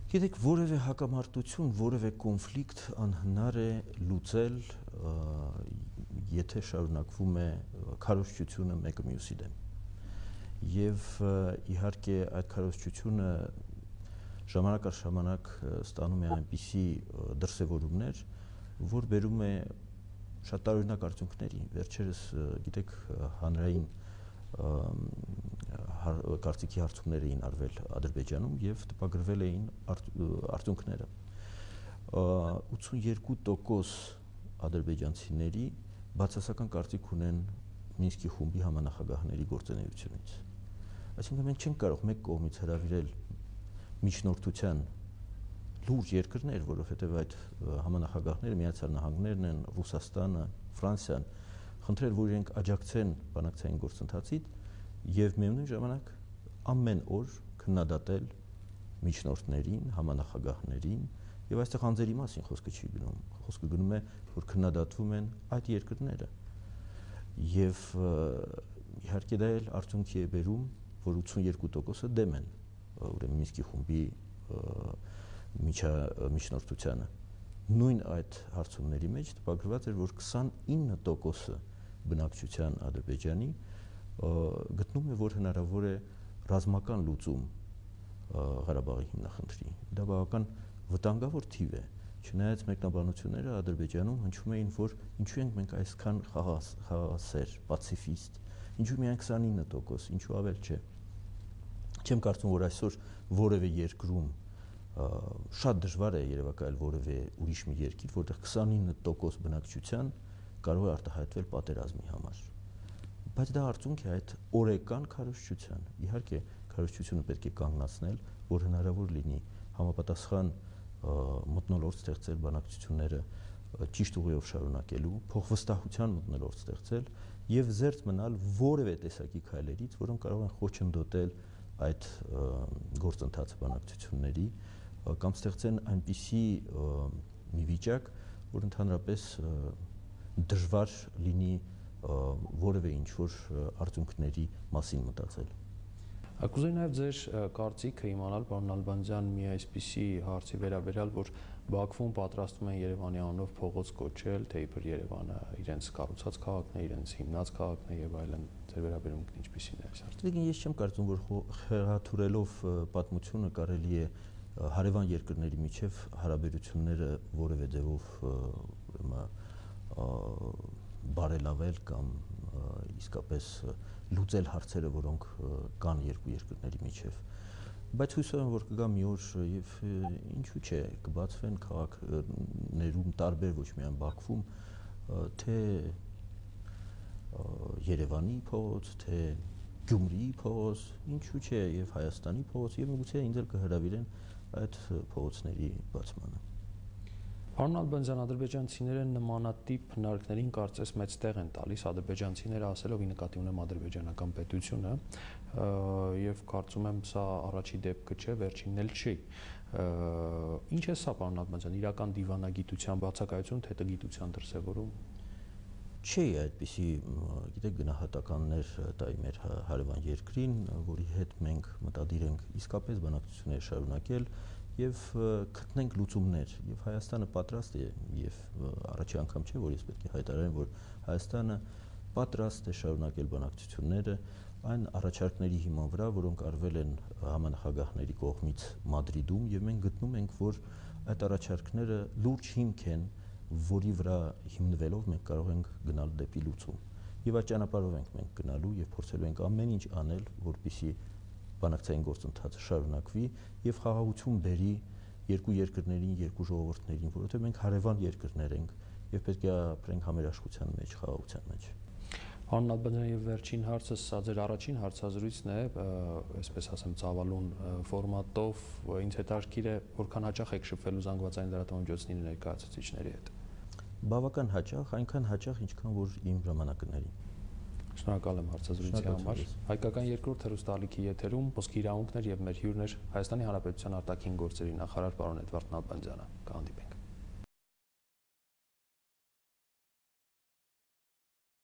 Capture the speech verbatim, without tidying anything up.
Գիտեք, որևէ հակամարտություն, որևէ կոնֆլիկտ անհնար է լուծել, եթե շարունակվում է քարոզչությունը մեկը մյուսի դեմ։ Եվ իհարկե այդ քարոզչությունը ժամանակ առ ժամանակ ստանում է այնպիսի դրսևորումներ, որ բերում է շատ տարօրինակ արդյունքների։ Վերջերս, գիտեք, հանրային կարծիքի հարցումներ էին արվել Ադրբեջանում եւ տպագրվել էին արդյունքները։ ութսունյերկու տոկոս ադրբեջանցիների բացասական կարծիք ունեն Մինսկի խումբի համանախագահների գործունեությունից։ Այսինքն մենք չենք կարող մեկ կողմից հրավիրել միջնորդության լուրջ երկրներ, որովհետև այդ համանախագահները Միացյալ Նահանգներն են, Ռուսաստանը, Ֆրանսիան, խնդրել, որ իրենք աջակցեն բանակցային գործընթացին եւ միևնույն ժամանակ ամեն օր քննադատել միջնորդներին, համանախագահներին եւ այստեղ անձերի մասին խոսքը չի գնում, խոսքը գնում է, որ քննադատվում են այդ երկրները եւ իհարկե դա էլ արդյունքի է բերում, որ ութսունյերկու տոկոսը դեմ են ուրեմն Մինսկի խումբի միջնորդությանը։ Նույն այդ հարցումների մեջ տպագրված էր, որ քսանինը տոկոսը բնակչության Ադրբեջանի գտնում է, որ հնարավոր է ռազմական լուծում Ղարաբաղի հիմնախնդրի։ Դա բավական վտանգավոր թիվ է, չնայած մեկնաբանությունները Ադրբեջանում հնչում էին, որ ինչու ենք մենք այսքան խաղաղասեր, պացիֆիստ, ինչու միայն քսանինը տոկոս, ինչու ավել չէ։ Չեմ կարծում, որ այսօր որևէ երկրում շատ դժվար է երևակայել որևէ ուրիշ մի երկիր, որտեղ քսանինը տոկոս բնակչության կարող է արտահայտվել պատերազմի համար։ Բայց դա արդյունք է այդ օրեկան քարոզչության։ Իհարկե, քարոզչությունը պետք է կանգնացնել, որ հնարավոր լինի համապատասխան մթնոլորտ ստեղծել բանակցությունները ճիշտ ուղիով շարունակելու, փոխվստահության մթնոլորտ ստեղծել եւ զերծ մնալ որևէ տեսակի քայլերից, որոնք կարող են խոչընդոտել այդ գործընթացը բանակցությունների կամ ստեղծեն այնպիսի մի վիճակ, որ ընդհանրապես դժվար լինի որևէ ինչ-որ արդյունքների մասին մտածել։ Կուզեի նաև ձեր կարծիքը իմանալ, պարոն Նալբանդյան, մի այսպիսի հարցի վերաբերյալ, որ Բաքվում պատրաստվում են Երևանի անունով փողոց կոչել, թե իբր Երևանը իրենց կառուցած քաղաքն է, իրենց հիմնած քաղաքն է եւ այլն։ Ձեր վերաբերմունքն ինչպիսին է այս հարցը։ Ես չեմ կարծում, որ խեղաթյուրելով պատմությունը կարելի է հարևան երկրների միջև հարաբերությունները որևէ ձևով բարելավել կամ իսկապես լուծել հարցերը, որոնք կան երկու երկրների միջև։ Բայց հույսով եմ, որ կգա մի օր եւ ինչու՞ չէ, կբացվեն քաղաքներում տարբեր, ոչ միայն Բաքվում, թե Երևանի փողոց, թե Գյումրիի փողոց, ինչու՞ չէ, եւ Հայաստանի փողոց, եւ միգուցե ինձ էլ կհրավիրեն այդ փողոցների բացմանը։ Պարոն Նալբանդյան, ադրբեջանցիները նմանատիպ հնարքներին կարծես մեծ տեղ են տալիս, ադրբեջանցիները ասելով ի նկատի ունեմ ադրբեջանական պետությունը, եւ կարծում եմ սա առաջի դեպքը չէ, վերջինն էլ չի։ Ինչ է սա, պարոն Նալբանդյան, իրական դիվանագիտության բացակայություն, թե տգիտության դրսևորում։ Չի այդպիսի, գիտեք, գնահատականներ տայի մեր հարևան երկրին, որի հետ մենք մտադիր ենք իսկապես բանակցություններ շարունակել եւ գտնենք լուծումներ, եւ Հայաստանը պատրաստ է, եւ առաջի անգամ չէ, որ ես պետք է հայտարարեմ, որ Հայաստանը պատրաստ է շարունակել բանակցությունները այն առաջարկների հիման վրա, որոնք արվել են համանախագահների կողմից Մադրիդում, եւ մենք գտնում ենք, որ այդ առաջարկները լուրջ հիմք են, որի վրա հիմնվելով մենք կարող ենք գնալ դեպի լուծում։ Եվ այդ ճանապարհով ենք մենք գնալու եւ փորձելու ենք ամեն ինչ անել, որպեսզի բանակցային գործընթացը շարունակվի եւ խաղաղություն բերի երկու երկրներին, երկու ժողովուրդներին, որովհետեւ մենք հարևան երկրներ ենք եւ պետք է ապրենք համերաշխության մեջ, խաղաղության մեջ։ Պարոն Նալբանդյան, եւ վերջին հարցը, սա ձեր առաջին հարցազրույցն է, այսպես ասեմ, ծավալուն ֆորմատով, ինձ հետաքրքիր է, որքան հաճախ եք շփվելու զանգվածային լրատվամիջոցների ներկայացուցիչների հետ։ Բավական հաճախ, այնքան հաճախ, ինչքան որ իմ ժամանակների։ Շնորհակալ եմ հարցազրույցի համար։ Հայկական երկրորդ հեռուստաալիքի եթերում Խոսքի իրավունքներ եւ մեր հյուրն էր Հայաստանի Հանրապետության արտաքին գործերի նախարար պարոն Էդվարդ Նալբանդյանը։ Կհանդիպենք։